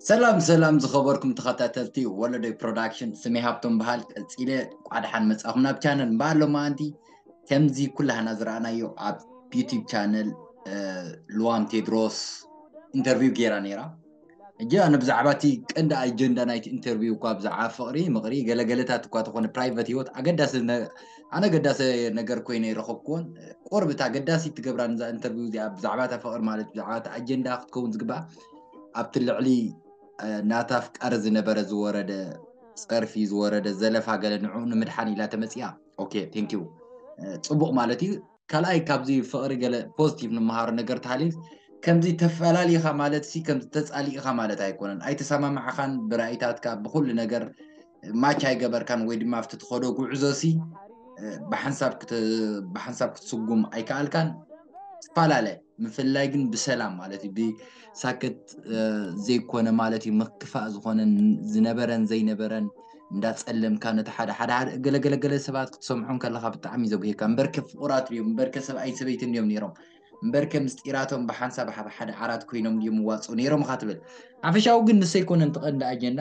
ሰላም ሰላም ዝኸበርኩም ተኸታተልቲ ወለዶይ ፕሮዳክሽን፣ ስሜ ሃብቶም በሃል። ቀጺለ እንኳዕ ደሓን መጻኹም ናብ ቻነል። እምበኣር ሎማዓንቲ ከምዚ ኩላህና ዝረኣናዮ ኣብ ዩቲዩብ ቻነል፣ እ፣ ልዋም ቴድሮስ ኢንተርቪው ገይራ ነይራ። እጂ ኣነ ብዛዕባ እቲ ቀንዲ ኣጀንዳ ናይቲ ኢንተርቪው እኳ ብዛዕባ ፍቕሪ ምቕሪ ገለገለታት እኳ ተኾነ ፕራይቨት ህይወት ኣገዳሲ ነ-፣ ኣነ ኣገዳሲ ነገር ኮይነ ይረኸብኩዎን፣ ቁርብ እታ ኣገዳሲ ትገብራ ንዛ ኢንተርቪው እዚኣ ብዛዕባ እታ ፍቕሪ ማለት ብዛዕባ እቲ ኣጀንዳ ክትከውን ዝግባእ ኣብቲ ልዕሊ፣ እ፣ ናታ ኣፍቃሪ ዝነበረ ዝወረደ ጸርፊ ዝወረደ ዘለፋ ገለ ንዕኡ ንምድሓን ኢላ ተመጺኣ። ኦኬ፣ ቴንክ ዩ። እ፣ ጽቡቕ ማለት እዩ። ካልኣይ ካብዚ ፍቕሪ ገለ ፖዚቲቭ ንመሃሮ ነገር ተሃልዩ ከምዚ ተፈላሊኻ ማለት ሲ ከምዚ ተጻሊእኻ ማለት ኣይኮነን። ኣይተሰማማዕኻን ብራእይታትካ ብኹሉ ነገር ማች ኣይገበርካን ወይ ድማ ኣብቲ ትኸዶ ጉዕዞ ሲ፣ እ፣ ብሓንሳብ ክት-፣ ብሓንሳብ ክትስጉም ኣይከኣልካን። ትፈላለ ምፍላይ ግን ብሰላም ማለት እዩ። ብሳክት፣ እ፣ ዘይኮነ ማለት እዩ። ምክፋእ ዝኾነ ን-፣ ዝነበረን ዘይነበረን እንዳጸለምካ ነቲ ሓደ ሓደ ሓደ ገለገለገለ ሰባት ክትሰምዖም ከለኻ ብጣዕሚ ዘጉሄካ። እምበርከ ፍቑራት ድዮም፣ እምበርከ ሰብኣይ ሰበይትን ድዮም ነይሮም፣ እምበርከ ምስጢራቶም ብሓንሳብ ኣብ ሓደ ዓራት ኮይኖም ድዮም ዋጹ ነይሮም ኢኻ ትብል። ሓፈሻዊ ግን ንሱ ኣይኮነን እቲ ቀንዲ ኣጀንዳ።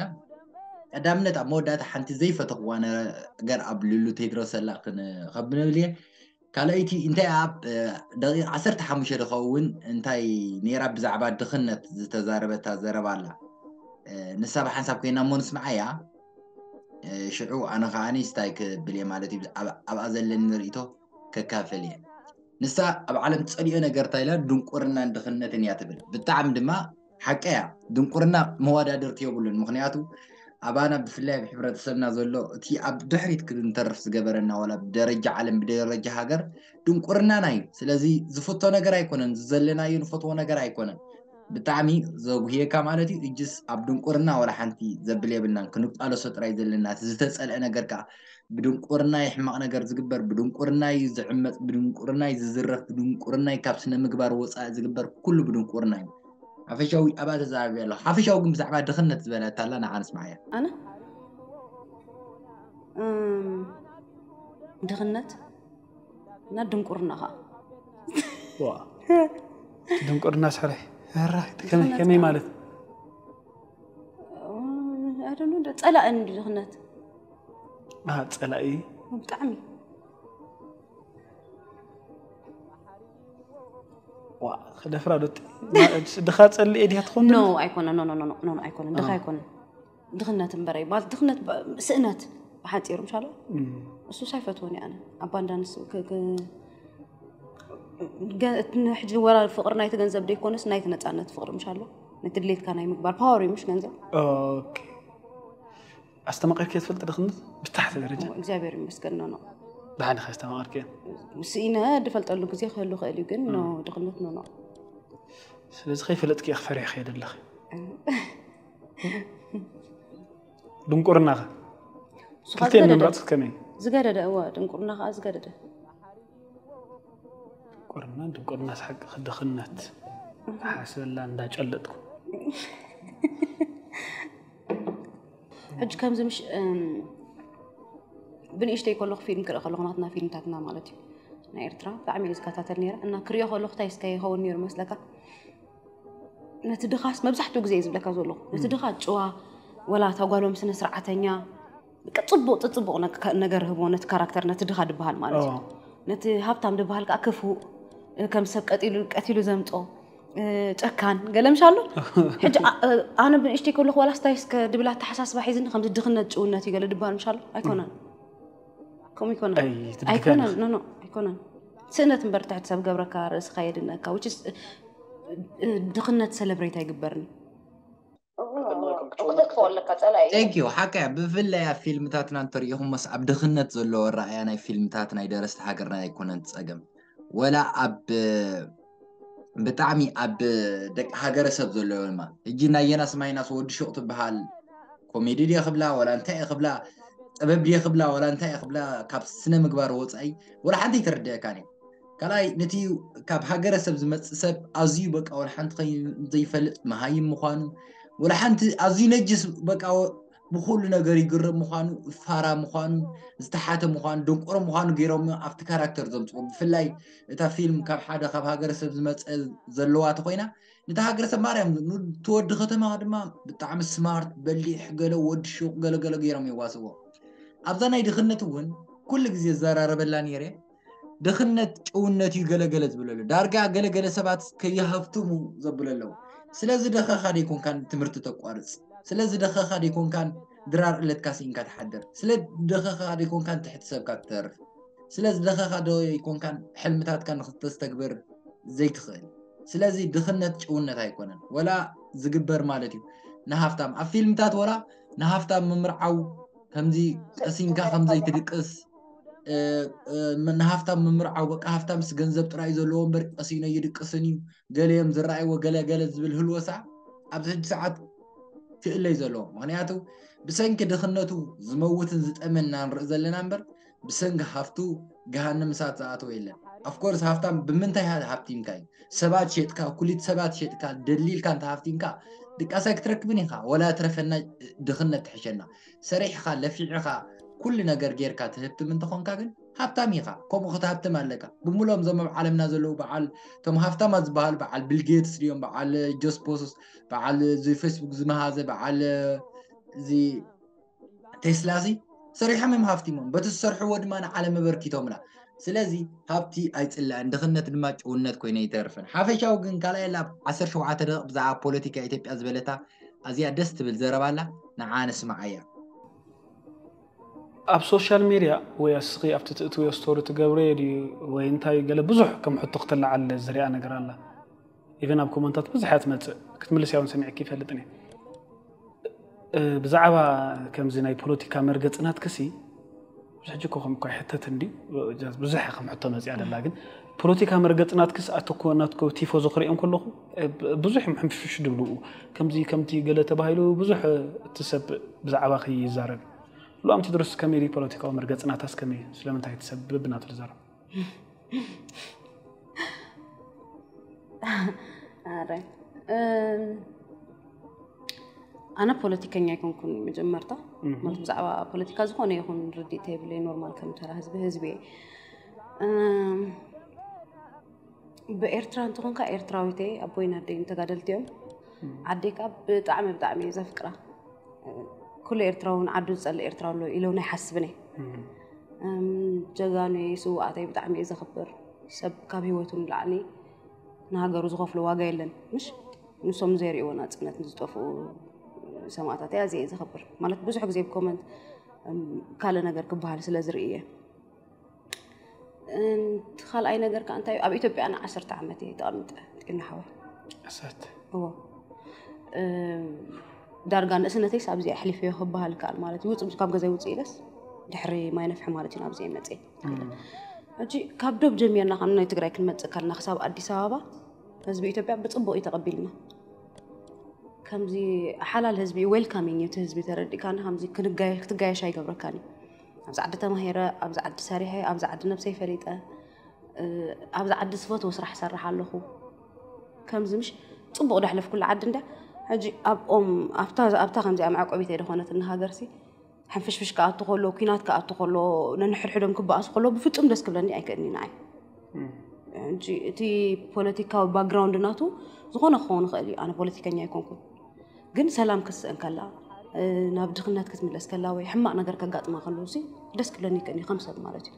ቀዳምነት ኣብ መወዳእታ ሓንቲ ዘይፈተኽዋ ነገር ኣብ ልሉ ቴድሮስ ኣላ ክን-፣ ከብነብል እየ። ካልኣይቲ እንታይ ኣብ፣ እ፣ ደቂቕ ዓሰርተ ሓሙሽተ ዝኸውን እንታይ ነይራ ብዛዕባ ድኽነት ዝተዛረበታ ዘረባ ኣላ። እ፣ ንሳ ብሓንሳብ ኮይና እሞ ንስምዓያ። እ፣ ሽዑ ኣነ ኸዓኒ ስታይ ክብል እየ ማለት እዩ። ኣብ-፣ ኣብኣ ዘለኒ ርእይቶ ከካፍል እየ። ንሳ ኣብ ዓለም ትጸልኦ ነገር እንታይ ኢላ ድንቁርናን ድኽነትን እያ ትብል። ብጣዕሚ ድማ ሓቀ እያ። ድንቁርና መወዳድርቲ የብሉን። ምኽንያቱ ኣባና ብፍላይ ኣብ ሕብረተሰብና ዘሎ እቲ ኣብ ድሕሪት ክንተርፍ ዝገበረና ዋላ ብደረጃ ዓለም ብደረጃ ሃገር ድንቁርናና እዩ። ስለዚ ዝፍቶ ነገር ኣይኮነን። ዝዘለናዮ ንፈትዎ ነገር ኣይኮነን። ብጣዕሚ ዘጉህየካ ማለት እዩ። እጅስ ኣብ ድንቁርና ዋላ ሓንቲ ዘብል የብልናን። ክንቃለሶ ጥራይ ዘለና። እቲ ዝተጸልአ ነገር ከኣ ብድንቁርና እዩ ሕማቕ ነገር ዝግበር፣ ብድንቁርና እዩ ዝዕመጽ፣ ብድንቁርና እዩ ዝዝረፍ፣ ብድንቁርና እዩ ካብ ስነ ምግባር ወጻኢ ዝግበር፣ ኩሉ ብድንቁርና እዩ። ሓፈሻዊ ኣብኣ ተዛራቢ ኣለኹ። ሓፈሻዊ ግን ብዛዕባ ድኽነት ዝበለታ ኣላ ንዓ ንስምዓያ። ኣነ? እም፣ ድኽነት እና ድንቁርና ኸዓ። ዋ። ድንቁርና ስሕረ። ራ፣ ከመይ፣ ድኽነት ከመይ ከኣ ማለት? I don't know፣ ጸላኢ እንዲ ድኽነት። አ፣ ጸላኢ? ብጣዕሚ። ዋ፣ ክደፍራ ዶ ጥ-፣ ማ-፣ ድኻ ጸልኤ ድያ ትኾን? ኖ፣ ኣይኮነን። ኖ፣ ኖ፣ ኖ፣ ኖ፣ ኖ፣ ኣይኮነን። ድኻ አ። ኣይኮነን። ድኽነት እምበረይ። ማለት ድኽነት ብ-፣ ስእነት ብሓጺሩ ምሻሎ? እም። እሱስ ኣይፈትዎን እየ ኣነ። ኣባንዳንስ ክ-፣ ክ-፣ ገ-፣ እቲ ሕጂ ወላ ፍቕሪ ናይቲ ገንዘብ ደይኮነስ ናይቲ ነጻነት ፍቕሪ ምሻሎ? ነቲ ድሌትካ ናይ ምግባር ፓወር እዩ ምሽ ገንዘብ? ኦኬ። ኣስተማቒርክዮ ትፈልጢ ድኽነት? ብታሕቲ ደረጃ? እግዚኣብሔር ይመስገን፣ ኖ፣ ኖ። ደሓን ኢኺ ኣስተማቒርክዮ? ስኢነ ድፈልጠሉ ግዜ ክህሉ ክእል እዩ፣ ግን ኖ፣ እም። ድኽነት ኖ፣ ኖ። ስለዚ ከይፈለጥክዮ ክፈሪሕክዮ ዘለኺ። እም። ድንቁርናኸ? ንስኻ ክልቲኤን ዝገደደ። ምምራጽ ከመይ? ዝገደደ፣ እወ፣ ድንቁርና ኸኣ ዝገደደ። ድንቁርና፣ ድንቁርና ስሓቂ ድኽነት። እህ። ሓሰላ እንዳጨለጥኩ። ሕጂ ከምዚ ምሽ-፣ እም፣ ብንእሽተይ ከለኹ ፊልም ክርኢ ከለኹ፣ ናትና ፊልምታትና ማለት እዩ፣ ናይ ኤርትራ ብጣዕሚ እየ ዝከታተል ነይረ። እና ክሪኦ ከለኹ እንታይ እስከ ይኸውን ነይሩ መስለካ? ነቲ ድኻስ መብዛሕትኡ ግዜ እየ ዝብለካ ዘለኹ። ነቲ እም። ድኻ ጭዋ፣ ወላ እታ ጓሎም ስነ ስርዓተኛ፣ በቃ ጽቡቕ፣ ጽቡቕ ነገ-፣ ነገር ህቦ ነቲ ካራክተር፣ ነቲ ድኻ ድበሃል ማለት እዩ። ኦ። ነቲ ሃብታም ድበሃል ከኣ ክፉእ፣ ከም ሰብ ቀጢሉ፣ ቀቲሉ ዘምጾ፣ እ፣ ጨካን፣ ገለ ምሽ ኣሎ። ሕጂ ኣ-፣ እ፣ ኣነ ብንእሽተይ ከለኹ ዋላ ስታይ እስከ ድብል ኣተሓሳስባ ሒዝኒ ከምዚ ድኽነት ጭውነት እዩ ገለ ድበሃል ምሽ ኣሎ። ኣይኮነን። እም። ከምኡ ይኮነን። ኣይ፣ ትድግፈኒ። ኣይኮነን፣ ኖ፣ ኖ፣ ኣይኮነን። ስእነት እምበር ትሕቲ ሰብ ገብረካ ርእስኻ የድንቀካ፣ which is፣ እ፣ እ፣ ድኽነት ሰለብሬት ኣይግበርን። እኮ ተጥፎ ኣለካ ጸላኢ። Thank you። ሓቀ እያ። ብፍላይ ኣብ ፊልምታትና እንተሪኢኹሞስ ኣብ ድኽነት ዘለዎ ኣረኣእያ ናይ ፊልምታት ናይ ደረስቲ ሃገርና ኣይኮነን ጸገም። ወላ ኣብ ብጣዕሚ ኣብ ደቂ ሃገረሰብ ዘለዎ ድማ። ሕጂ ናይ የናስ ማይናስ ወዲ ሹቕ ትበሃል ኮሜዲ ድየ ክብላ፣ ወላ እንታይ እየ ክብላ፣ ጥበብ ድየ ክብላ፣ ወላ እንታይ እየ ክብላ፣ ካብ ስነ ምግባር ወጻኢ ወላ ሓንቲ ኣይተረድአካን እየ። ካልኣይ፣ ነቲ ካብ ሃገረሰብ ዝመጽእ ሰብ ኣዝዩ በቃ ወላ ሓንቲ ከይ-፣ ዘይፈልጥ መሃይም ምዃኑ፣ ወላ ሓንቲ ኣዝዩ ነጅስ በቃ ወ-፣ ብኩሉ ነገር ይግረም ምዃኑ፣ ፋራ ምዃኑ፣ ዝተሓተ ምዃኑ፣ ደንቆሮ ምዃኑ ገይሮም ኣብቲ ካራክተር ዘምፅዎ። ብፍላይ እታ ፊልም ካብ ሓደ ካብ ሃገረሰብ ዝመፀ ዘለዋ ተኮይና፣ ነታ ሃገረሰብ ማርያም፣ ንትወዲ ከተማ ድማ ብጣዕሚ ስማርት፣ በሊሕ፣ ገለ ወዲ ሹቕ፣ ገለ ገለ ገይሮም የዋስዎ። ኣብዛ ናይ ድኽነት እውን ኩሉ ግዜ ዘራረበላ ነይረ። ድኽነት ጭውነት እዩ ገለገለ ዝብለሉ። ዳርጋ ገለገለ ሰባት ከይሃፍትሙ ዘብለለው። ስለዚ ደኸኻ ደይኮንካን ትምህርቲ ተቋርጽ። ስለዚ ደኸኻ ደይኮንካን ድራር ዕለትካ ስኢንካ ትሓድር። ስለ ደኸኻ ደይኮንካን ትሕቲ ሰብካ ትተርፍ። ስለዚ ደኸኻ ደይኮንካን ሕልምታትካ ንኽተስተግብር ዘይትኽእል። ስለዚ ድኽነት ጭውነት ኣይኮነን። ወላ ዝግበር ማለት እዩ። ንሃፍታም ኣብ ፊልምታት ወላ ንሃፍታም ምምርዓው ከምዚ ቀሲንካ ከምዘይትድቅስ ንሃፍታም ምምርዓው በቃ ሃፍታምስ ገንዘብ ጥራይ ዘለዎ እምበር ቀሲኖ ይድቅስን እዩ ገለዮም ዝረኣይዎ ገለ ገለ ዝብል ህልወሳ ኣብዚ ሕጂ ሰዓት ክእለይ ዘለዎ ምክንያቱ ብሰንኪ ድኽነቱ ዝመውትን ዝጠመና ንርኢ ዘለና እምበር ብሰንኪ ሃፍቱ ገሃንም እሳት ዝኣተወ የለን። ኣፍኮርስ ሃፍታም ብምንታይ ሃብቲምካ እዩ ሰባት ሸጥካ ኩሊት ሰባት ሸጥካ ደሊልካ እንተ ሃፍቲምካ ድቃሳ ክትረክብን ኢኻ ወላ ትረፈና ድኽነት ትሕሸና ሰሪሕኻ ለፊዕኻ ኩሉ ነገር ጌርካ ትህብትም እንተኾንካ ግን ሃብታም ኢኻ ከምኡ ክትሃብትም ኣለካ ብምሎም እዞም ኣብ ዓለምና ዘለዉ በዓል እቶም ሃፍታማት ዝበሃሉ በዓል ቢል ጌትስ ድዮም በዓል ጆስ ቦሶስ በዓል እዚ ፌስቡክ ዝመሃዘ በዓል እዚ ቴስላ እዚ ሰሪሖም እዮም ሃፍቲሞም በቲ ዝሰርሕዎ ድማ ንዓለም ኣበርኪቶምላ ስለዚ ሃብቲ ኣይፅላእን ድኽነት ድማ ጭውነት ኮይነ ይተርፍን ሓፈሻዊ ግን ካልኣይ ላብ ዓሰርተ ሸውዓተ ደቂቕ ብዛዕባ ፖለቲካ ኢትዮጵያ ዝበለታ ኣዝያ ደስ ትብል ዘረባ ኣላ ንዓ ንስምዓያ ኣብ ሶሻል ሜድያ ወይ ኣስኺ ኣብቲ ትእትውዮ ስቶሪ ትገብርዮ ድዩ ወይ እንታይ ገለ ብዙሕ ከም ሕቶ ክተለዓል ዝሪኣ ነገር ኣላ ኢቨን ኣብ ኮመንታት ብዙሕ እያ ትመፅእ ክትምልስ ያውን ሰሚዕኪ ይፈልጥን እየ ብዛዕባ ከምዚ ናይ ፖለቲካ መርገፅናት ክሲ ሕጂ እኮ ከም እኳ ይሕተት እንዲ ብዙሕ ከም ሕቶ መፅያ ደላ ግን ፖለቲካ መርገፂ ናትክስ ኣተኮ ናትኮ ቲፎ ዝኽሪኦም ከለኹ ብዙሕ እዮም ሕምሽሽ ድብልኡ ከምዚ ከምቲ ገለ ተባሂሉ ብዙሕ እቲ ሰብ ብዛዕባ ይዛረብ ሉኣም ቴድሮስ ከመይ ድዩ ፖለቲካዊ መርገፂ ናታስ ከመይ ስለምንታይ እቲ ሰብ ብብናቱ ዝዛረብ ኣረ ኣነ ፖለቲከኛ ኣይኮንኩን መጀመርታ ማለት ብዛዕባ ፖለቲካ ዝኾነ ይኹን ርድኢት የብለይ ኖርማል ከም ተራ ህዝቢ ህዝቢ እየ ብኤርትራ እንተኾንካ ኤርትራዊት እየ ኣቦይን ኣደይን ተጋደልቲ እዮም ዓደይ ከዓ ብጣዕሚ ብጣዕሚ እየ ዘፍቅራ ኩሉ ኤርትራዊ እውን ዓዱ ዝፀልእ ኤርትራዊ ኣሎ ኢለ እውን ኣይሓስብን እየ ጀጋኑ እየ ስውኣተይ ብጣዕሚ እየ ዘኽብር ሰብ ካብ ሂወቱ ንላዕሊ ንሃገሩ ዝኸፍሎ ዋጋ የለን ምሽ ንሶም ዘይርእይዎ ናፅነት ንዝጠፍኡ ሰማእታት እያ እዚየ ዘኸብር ማለት ብዙሕ ግዜ ብኮመንት ካልእ ነገር ክበሃል ስለ ዝርኢ እየ እቲ ካልኣይ ነገር ከዓ እንታይ ኣብ ኢትዮጵያ ን ዓሰርተ ዓመት እየ ተቐሚጠ ጤና ሓወይ እሰት እዎ ዳርጋ ንእስነተይስ ኣብዚኣ ኣሕሊፈዮ ክበሃል ይከኣል ማለት እዩ ውፅእ ካብ ገዛይ ውፅእ ኢለስ ድሕሪ ማይ ነፍሒ ማለት እዩ ናብዚኣ መፅእ ሕጂ ካብ ዶብ ጀሚርና ከም ናይ ትግራይ ክንመፅእ ከለና ክሳብ ኣዲስ ኣበባ ህዝቢ ኢትዮጵያ ብፅቡቅ እዩ ተቐቢልና ከምዚ ሓላል ህዝቢ ዌልካሚንግ እዩ እቲ ህዝቢ ተረዲእካኒ ከምዚ ክትጋየሽ ኣይገብረካን እዩ ኣብዚ ዓዲ ተማሂረ ኣብዚ ዓዲ ሰሪሐ ኣብዚ ዓዲ ነብሰይ ፈሊጠ ኣብዚ ዓዲ ዝፈትዎ ስራሕ ሰርሕ ኣለኹ ከምዚ ምሽ ፅቡቅ ደሕለፍ ኩሉ ዓዲ እንዳ ሕጂ ኣብኦም ኣብታ ከምዚኣ መዕቆቢት ኣይደኾነትን ሃገርሲ ሕንፍሽፍሽ ክኣቱ ከሎ ኩናት ክኣቱ ከሎ ነንሕድሕዶም ክበኣሱ ከሎ ብፍፁም ደስ ክብለኒ ኣይክእልኒ ንዓይ ሕጂ እቲ ፖለቲካዊ ባክግራውንድ ናቱ ዝኾነ ክኸውን ይኽእል እዩ ኣነ ፖለቲከኛ ኣይኮንኩን ግን ሰላም ክትስእን ከላ ናብ ድኽነት ክትምለስ ከላ ወይ ሕማቕ ነገር ከጋጥማ ከለዉ ሲ ደስ ክብለኒ ይክእል እዩ ከም ሰብ ማለት እዩ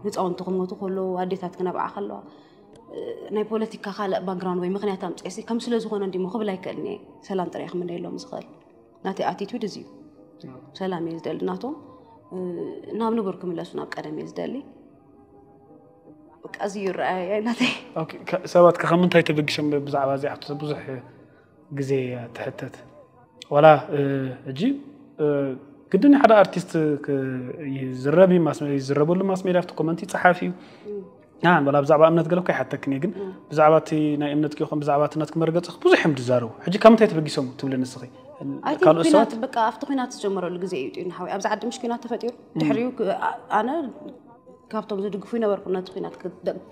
ህፃውንቲ ክሞቱ ከለዉ ኣዴታት ክነብዓ ከለዋ ናይ ፖለቲካ ካልእ ባክግራውንድ ወይ ምክንያት ኣምፅኤ ሲ ከም ስለ ዝኾነ እንዲሞ ክብል ኣይክእልን እየ ሰላም ጥራይ ክምነየሎም ዝኽእል ናተይ ኣቲቱድ እዚ እዩ ሰላም እየ ዝደሊ ናቶም ናብ ንቡር ክምለሱ ናብ ቀደም እየ ዝደሊ በቃ እዚ እዩ ረኣየ ናተይ ሰባት ከ ካብ ምንታይ ተበጊሶም ብዛዕባ እዚኣ ብዙሕ ግዜ ትሕተት ዋላ ሕጂ ግድን ሓደ ኣርቲስት ይዝረብ ይዝረበሉ ማስ ሜድያ ኣብቲ ኮመንቲ ይፀሓፍ እዩ ዋላ ብዛዕባ እምነት ገለ እኳ ይሓተክን ግን ብዛዕባ እቲ ናይ እምነት ይኹን ብዛዕባ እቲ ናትኪ መርገፂ ብዙሕ እዮም ዝዛረቡ ሕጂ ካብ ምንታይ ተበጊሶም ትብሊ ንስኺ ካልኦት ሰባት በቃ ኣብቲ ኩናት ዝጀመረሉ ግዜ እዩ ጢና ሓወይ ኣብዚ ዓዲ ምሽ ኩናት ተፈጢሩ ድሕሪኡ ኣነ ካብቶም ዝድግፉ ይነበርኩ ነቲ ኩናት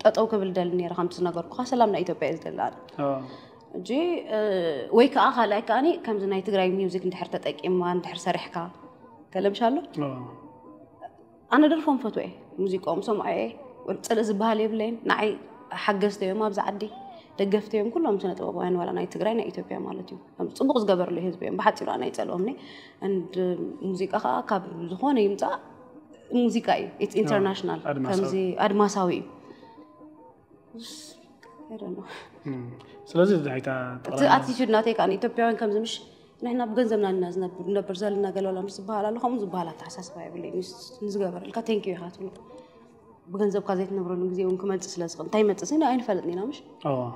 ጠጠው ክብል ደሊ ነረ ከምቲ ዝነገርኩካ ሰላም ናይ ኢትዮጵያ እዩ ዝደሊ ኣነ ሕጂ ወይ ከዓ ካልኣይ ከዓኒ ከምዚ ናይ ትግራይ ሚውዚክ እንድሕር ተጠቂምዋ እንድሕር ሰሪሕካ ከለምሻሎ ኣነ ደርፎም ፈትወ እየ፣ ሙዚቃኦም ሰምዖ እየ። ፅልእ ዝበሃል የብለይን። ንዓይ ሓገዝቲ እዮም ኣብዚ ዓዲ፣ ደገፍቲ እዮም ኩሎም ስነ ጥበባውያን፣ ዋላ ናይ ትግራይ ናይ ኢትዮጵያ ማለት እዩ። ጽቡቕ ዝገበርሉ ህዝቢ እዮም። ብሓፂሩ ኣነ ኣይፀልኦምኒ። And ሙዚቃ ከዓ ካብ ዝኾነ ይምፃእ ሙዚቃ እዩ። It's international፣ ከምዚ ኣድማሳዊ እዩ። ስለዚ ናይታ እቲ ኣቲቱድ ናተይ ከዓ ንኢትዮጵያውያን ከምዚ ምሽ ንሕና ብገንዘብና ኢና ዝነብር ዘለና ገለ ዋላ ምስ ዝበሃል ኣሎ ከምኡ ዝበሃል ኣተሓሳስባ የብለይ። ንዝገበረልካ ቴንኪዩ ኢኻ ትብሎ። ብገንዘብካ ዘይትነብረሉ ግዜ እውን ክመፅእ ስለ ዝኽእል እንታይ ይመፅእ ስኒ ኣይንፈልጥን ኢና ምሽ።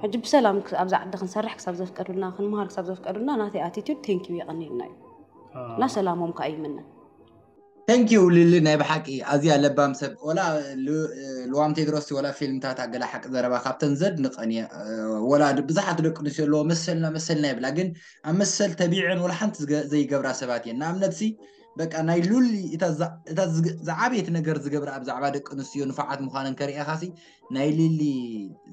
ሕጂ ብሰላም ኣብዛ ዓዲ ክንሰርሕ ክሳብ ዘፍቀዱልና፣ ክንምሃር ክሳብ ዘፍቀዱልና ናተይ ኣቲቱድ ቴንኪዩ የቐንየልና እዩ እና ሰላሞም ከዓ ይምነ። Thank you ሊሊ፣ ናይ ብሓቂ ኣዝያ ለባም ሰብ። ወላ ልዋም ቴድሮስ ወላ ፊልምታት ኣገላ ሓቂ ዘረባ ካብተን ዘድንቐን እየ። ወላ ብዙሓት ደቂ ኣንስትዮ ኣለዎ መሰልና መሰልና ይብላ፣ ግን ኣብ መሰል ተቢዐን ወላ ሓንቲ ዘይገብራ ሰባት እየን። ንኣብነት ሲ በቃ ናይ ሉሊ እታ ዝዓበየት ነገር ዝገብራ ብዛዕባ ደቂ ኣንስትዮ ንፋዓት ምዃነን ከርእየኻ ሲ ናይ ሊሊ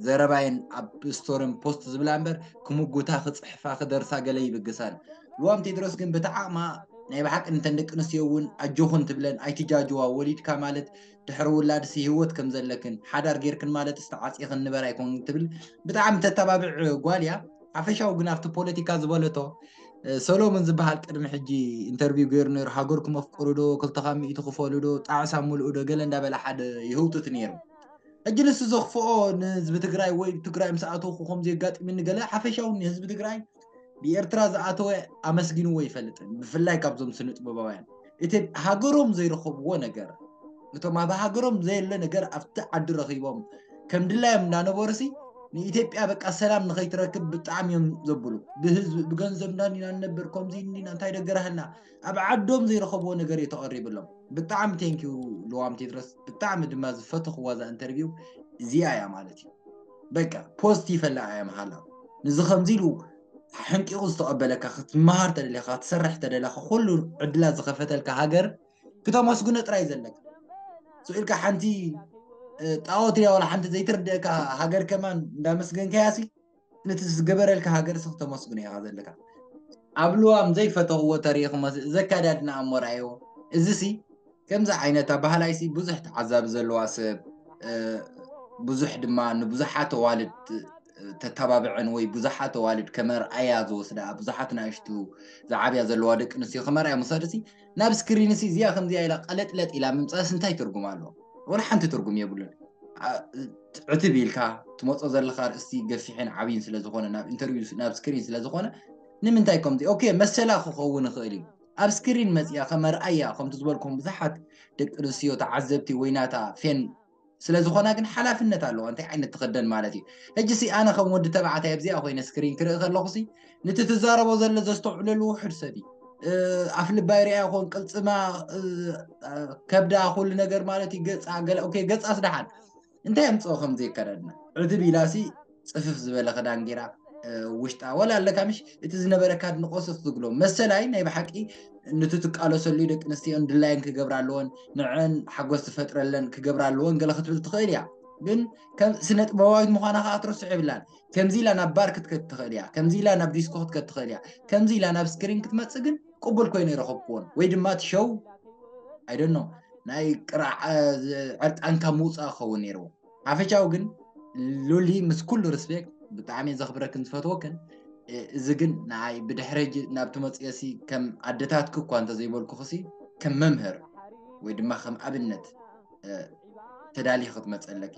ዘረባየን ኣብ ስቶሪን ፖስት ዝብላ እምበር ክምጉታ ክፅሕፋ ክደርሳ ገለ ይብግሳን። ልዋም ቴድሮስ ግን ብተዓቕማ ናይ ብሓቂ ንተን ደቂ ኣንስትዮ እውን ኣጆኹን ትብለን ኣይትጃጅዋ። ወሊድካ ማለት ድሕሪ ውላድሲ ህይወት ከም ዘለክን ሓዳር ጌርክን ማለት ዝተዓፅየኽን ንበር ኣይኮን ትብል ብጣዕሚ ተተባብዕ ጓል እያ። ሓፈሻዊ ግን ኣብቲ ፖለቲካ ዝበለቶ ሰሎሞን ዝበሃል ቅድሚ ሕጂ ኢንተርቪው ገይሩ ነይሩ። ሃገርኩም ኣፍቅሩ ዶ፣ ክልተኻ ሚእቲ ክፈሉ ዶ፣ ጣዕሳ ምልኡ ዶ ገለ እንዳበለ ሓደ ይህውትት ነይሩ። ሕጂ ንሱ ዘኽፍኦ ንህዝቢ ትግራይ ወይ ትግራይ ምስ ኣተውኩ ከምዚ የጋጥምኒ ገለ ሓፈሻዊ ንህዝቢ ትግራይ ብኤርትራ ዝኣተወ ኣመስጊንዎ ይፈልጥን ብፍላይ ካብዞም ስነ ጥበባውያን እቲ ሃገሮም ዘይረኸብዎ ነገር እቶም ኣብ ሃገሮም ዘየለ ነገር ኣብቲ ዓዲ ረኺቦም ከም ድላዮም እንዳነበሩሲ ንኢትዮጵያ በቃ ሰላም ንኸይትረክብ ብጣዕሚ እዮም ዘብሉ። ብህዝቢ ብገንዘብ እንዳኒና ንነብር ከምዚ እንዲና እንታይ ደገራህልና ኣብ ዓዶም ዘይረኸብዎ ነገር እዩ ተቐሪብሎም። ብጣዕሚ ቴንኪዩ ልዋም ቴድሮስ፣ ብጣዕሚ ድማ ዝፈተኽዋ እዛ ኢንተርቪው እዚኣ እያ ማለት እዩ። በቃ ፖስት ይፈላ እያ መሃላ ንዚ ከምዚ ኢሉ ሕንቂቑ ዝተቐበለካ ክትመሃር ተደሊኻ ክትሰርሕ ተደለኻ ኩሉ ዕድላት ዝኸፈተልካ ሃገር ክተመስግኖ ጥራይ ዘለካ። ስኡ ኢልካ ሓንቲ ጣዖት እያ ዋላ ሓንቲ ዘይትርድእካ ሃገር ከማን እንዳመስገንካያ ሲ ነቲ ዝገበረልካ ሃገር ሲ ክተመስግኖ ኢኻ ዘለካ። ኣብ ልዋም ዘይፈተኽዎ ተሪኢኹ መስል ዘካዳድና ኣሞራዮ እዚ ሲ ከምዚ ዓይነት ኣባህላይ ሲ ብዙሕ ተዓዛቢ ዘለዋ ሰብ ብዙሕ ድማ ንብዙሓት ኣዋልድ ተተባብዐን ወይ ብዙሓት ኣዋልድ ከመርኣያ ዝወስዳ ብዙሓት ናእሽቱ ዝዓብያ ዘለዋ ደቂ ኣንስትዮ ከመርኣያ ምውሳድ ሲ ናብ ስክሪን ሲ እዚኣ ከምዚኣ ኢላ ቀለጥለጥ ኢላ ምምፃእስ እንታይ ትርጉም ኣለዎ? ወላ ሓንቲ ትርጉም የብሉን። ዕትብ ኢልካ ትመፆ ዘለካ ርእስቲ ገፊሕን ዓብይን ስለዝኮነ ናብ ኢንተርቪው ናብ ስክሪን ስለዝኮነ ንምንታይ ከምዚ ኦኬ መሰላ ክኸውን ይኽእል እዩ። ኣብ ስክሪን መፅያ ከመርኣያ ከምቲ ዝበልኩም ብዙሓት ደቂ ኣንስትዮ ተዓዘብቲ ወይ ናታ ፌን ስለዝኾና ግን ሓላፍነት ኣለዋ። እንታይ ዓይነት ትኽደን ማለት እዩ። ሕጂ ሲ ኣነ ከም ወዲ ተባዕታይ ኣብዚኣ ኮይነ ስክሪን ክርኢ ከለኹ ሲ ንቲ ትዛረቦ ዘሎ ዘስተውዕለሉ ውሕድ ሰብ እዩ። ኣፍ ልባ ይርያ ይኾን ቅልፅማ ከብዳ ኩሉ ነገር ማለት እዩ። ገፃ ገለ ኦኬ ገፃ ስደሓን እንታይ ኣምፅኦ ከም ዘይከዳድና ዕትብ ኢላ ሲ ፅፍፍ ዝበለ ክዳን ጌራ ውሽጣ ወላ ኣለካ ምሽ እቲ ዝነበረካ ድንቆ ስፍ ዝግሎ መሰላይ ናይ ብሓቂ ንቲ ትቃለሰሉ ደቂ ኣንስትዮ ድላየን ክገብራ ኣለወን ንዐን ሓጎስ ዝፈጥረለን ክገብራ ኣለወን ገለ ክትብል ትኽእል እያ። ግን ከም ስነ ጥበባዊት ምዃና ከዓ ትርስዖ የብላን። ከምዚ ኢላ ናብ ባር ክትከድ ትኽእል እያ። ከምዚ ኢላ ናብ ዲስኮ ክትከድ ትኽእል እያ። ከምዚ ኢላ ናብ ስክሪን ክትመፅእ ግን ቅቡል ኮይኑ ይረኸብክዎን ወይ ድማ እቲ ሸው ኣይደኖ ናይ ቅራዕ ዕርቃንካ ምውፃእ ክኸውን ነይርዎ። ሓፈሻዊ ግን ሉሊ ምስ ኩሉ ሪስፔክት ብጣዕሚ እየ ዘኽብረክን ዝፈትወክን። እዚ ግን ንዓይ ብድሕሪ ሕጂ ናብ ትመፅኦሲ ከም ኣደታትኪ እኳ እንተዘይበልኩኽሲ ከም መምህር ወይ ድማ ከም ኣብነት ተዳሊኺ ክትመፀለኪ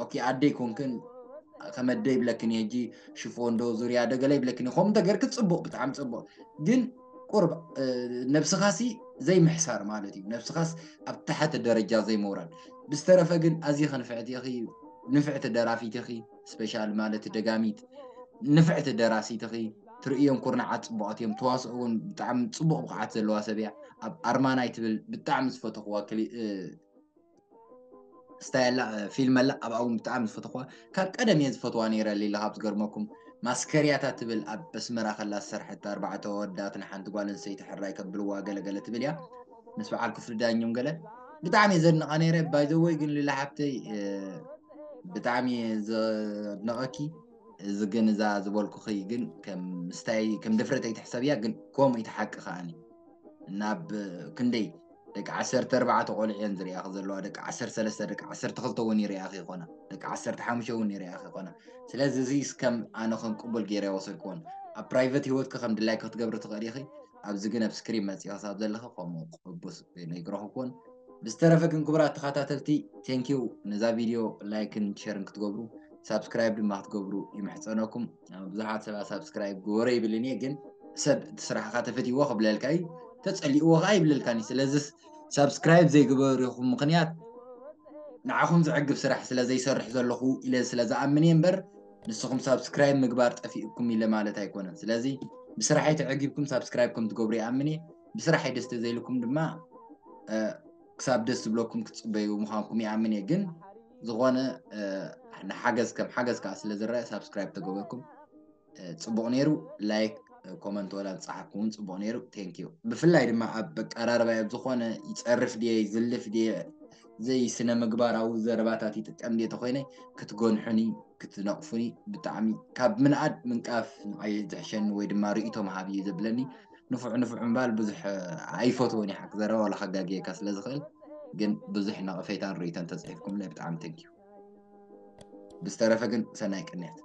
ኦኬ ኣደይ ኮንክን ከም ኣደይ ይብለክን እየ ሕጂ ሽፎን ዶ ዙርያ ዶ ገለ ይብለክን እየ ከምኡ እንተገርኪ ፅቡቕ ብጣዕሚ ፅቡቕ ግን ቁርብ ነብስኻሲ ዘይምሕሳር ማለት እዩ ነብስኻስ ኣብ ታሕቲ ደረጃ ዘይምውራድ ብዝተረፈ ግን ኣዚኺ ንፍዕቲ ኢኺ ንፍዕቲ ደራፊት ኢኺ ስፔሻል ማለት ደጋሚት ንፍዕቲ ደራሲት ኢኺ ትርእዮም ኩርናዓት ፅቡቓት እዮም ተዋስኦ እውን ብጣዕሚ ፅቡቕ ብቕዓት ዘለዋ ሰብ እያ ኣብ ኣርማናይ ትብል ብጣዕሚ ዝፈተኽዋ ስታይ ኣላ ፊልም ኣላ ኣብኣ እውን ብጣዕሚ ዝፈተኽዋ ካብ ቀደም እየ ዝፈትዋ ነይረ ሌላ ካብ ዝገርመኩም ማስከርያታ ትብል ኣብ ኣስመራ ከላ ዝሰርሐት ኣርባዕተ ወዳትን ሓንቲ ጓል ኣንስተይቲ ሕራይ ከብልዋ ገለገለ ትብል እያ ምስ በዓል ክፍሊ ዳኘም ገለ ብጣዕሚ እየ ዘድንቓ ነይረ ባይዘወይ ግን ሌላ ሓብተይ ብጣዕሚ እየ ዘድንቐኪ እዚ ግን እዛ ዝበልኩኺ ግን ከም ስታይ ከም ድፍረት ኣይትሕሰብያ ግን ከምኡ እዩ እቲ ሓቂ ከዓኒ ናብ ክንደይ ደቂ ዓሰርተ ኣርባዕተ ቆልዑ እየን ዝሪኣኺ ዘለዋ፣ ደቂ ዓሰርተ ሰለስተ ደቂ ዓሰርተ ክልተ እውን ይሪኣኺ ይኾና፣ ደቂ ዓሰርተ ሓሙሽተ እውን ይሪኣኺ ይኾና። ስለዚ እዚ እስከም ኣነ ከም ቅቡል ገይረ ይወሰድክዎን ኣብ ፕራይቨት ህይወትኪ ከም ድላይኪ ክትገብሪ ትኽእሊ ኢኺ። ኣብዚ ግን ኣብ ስክሪን መፂኦ ክሳብ ዘለኺ ከምኡ ቅቡስ ነይግረኽክዎን። ብዝተረፈ ግን ክቡራት ተኸታተልቲ ቴንኪዩ ነዛ ቪድዮ ላይክን ሸርን ክትገብሩ ሳብስክራይብ ድማ ክትገብሩ ይምሕፀነኩም። ብዙሓት ሰባት ሳብስክራይብ ግበሮ ይብልኒ ግን ሰብ እቲ ስራሕካ ተፈትይዎ ክብለልካ እዩ። ተፀሊእዎ ከዓ ይብለልካኒ። ስለዚ ሳብስክራይብ ዘይግበርኹም ምክንያት ንዓኹም ዘዕግብ ስራሕ ስለ ዘይሰርሕ ዘለኹ ኢለ ስለ ዝኣምን እየ እምበር ንስኹም ሳብስክራይብ ምግባር ጠፊእኩም ኢለ ማለት ኣይኮነን። ስለዚ ብስራሐይ ተዕጊብኩም ሳብስክራይብ ከም ትገብሩ ይኣምን እየ። ብስራሐይ ደስ ተዘይልኩም ድማ ክሳብ ደስ ዝብለኩም ክትፅበዩ ምዃንኩም ይኣምን እየ። ግን ዝኾነ ንሓገዝ ከም ሓገዝ ከዓ ስለ ዝረአ ሳብስክራይብ ተገበርኩም ፅቡቕ ነይሩ። ላይክ ኮመንት ወላ ዝፀሓፍኩም እውን ፅቡቕ ነይሩ። ቴንኪዩ። ብፍላይ ድማ ኣብ ኣቀራርባ ኣብ ዝኾነ ይፀርፍ ድየ ይዝልፍ ድየ ዘይስነ ምግባራዊ ዘረባታት ይጥቀም ድየ ተኮይነ ክትገንሑኒ ክትነቕፉኒ ብጣዕሚ ካብ ምንኣድ ምንቃፍ ንዓይ ዝሕሸኒ ወይ ድማ ርእይቶ ምሃብ እዩ ዘብለኒ። ንፉዕ ንፉዕ ምባል ብዙሕ ኣይፈትዎን እየ ሓቂ ዘረባ ዋላ ከጋግየካ ስለ ዝኽእል። ግን ብዙሕ ነቐፌታን ርእይቶን ተፅሒፍኩምለይ ብጣዕሚ ቴንኪዩ። ብዝተረፈ ግን ሰናይ ቅንያት።